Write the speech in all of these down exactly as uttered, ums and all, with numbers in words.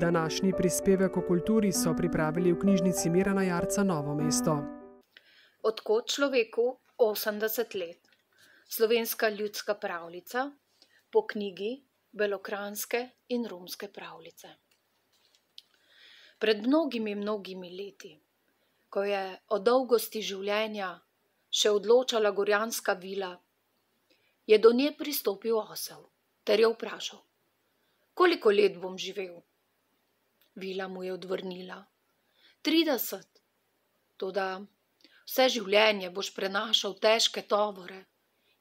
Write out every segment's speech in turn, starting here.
Današnji prispevek o kulturi so pripravili v knjižnici Mirana Jarca Novo mesto. Od kod človeku osemdeset let? Slovenska ljudska pravljica po knjigi Belokranjske in romske pravljice. Pred mnogimi, mnogimi leti, ko je o dolgosti življenja še odločala gorjanska vila, je do nje pristopil osel ter jo vprašal: koliko let bom živel? Vila mu je odvrnila: trideset, toda vse življenje boš prenašal težke tovore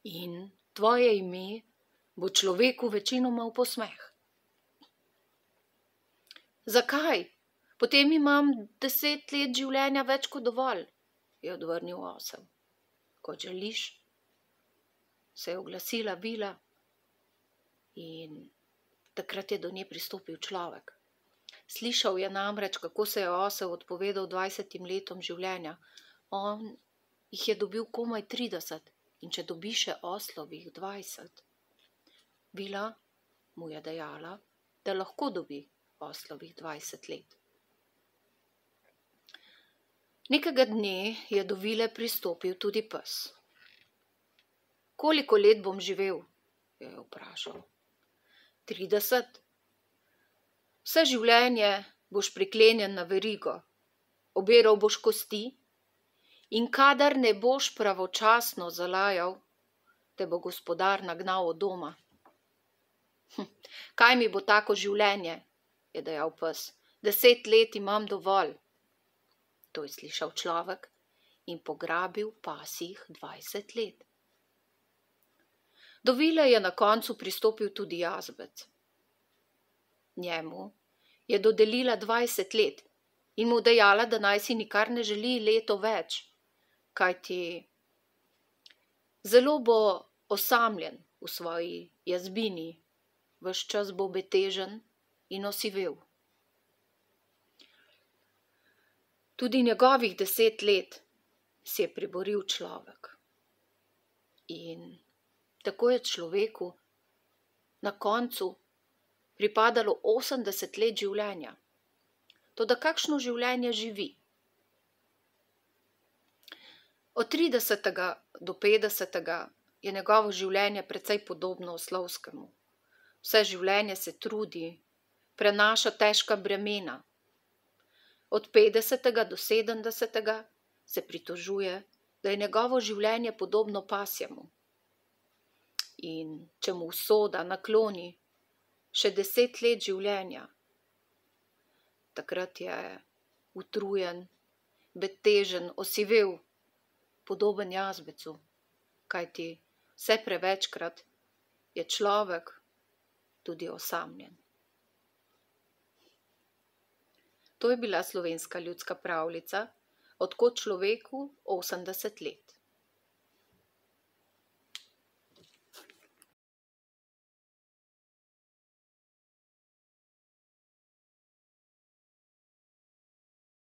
in tvoje ime bo človeku večinoma v posmeh. Zakaj? Potem imam deset let življenja več kot dovolj, je odvrnil osel. Kot želiš, se je oglasila vila in takrat je do nje pristopil človek. Slišal je namreč, kako se je osel odpovedal dvajsetim letom življenja. On jih je dobil komaj trideset in če dobi še oslovih dvajset. Vila mu je dejala, da lahko dobi oslovih dvajset let. Nekega dne je do vile pristopil tudi pes. Koliko let bom živel? Je vprašal. Trideset. Vse življenje boš priklenjen na verigo, obiral boš kosti in kadar ne boš pravočasno zalajal, te bo gospodar nagnal od doma. Hm, kaj mi bo tako življenje, je dejal pes, deset let imam dovolj. To je slišal človek in pograbil pasjih dvajset let. Do vile je na koncu pristopil tudi jazbec. Njemu je dodelila dvajset let in mu dejala, da naj si nikar ne želi leto več, kajti zelo bo osamljen v svoji jazbini, ves čas bo betežen in osivel. Tudi njegovih deset let si je priboril človek. In tako je človeku na koncu pripadalo osemdeset let življenja. Toda kakšno življenje živi? Od tridesetega do petdesetega je njegovo življenje precej podobno oslovskemu. Vse življenje se trudi, prenaša težka bremena. Od petdesetega do sedemdesetega se pritožuje, da je njegovo življenje podobno pasjemu. In če mu usoda nakloni še deset let življenja, takrat je utrujen, betežen, osivel, podoben jazbecu, kajti vse prevečkrat je človek tudi osamljen. To je bila slovenska ljudska pravljica Od kod človeku osemdeset let.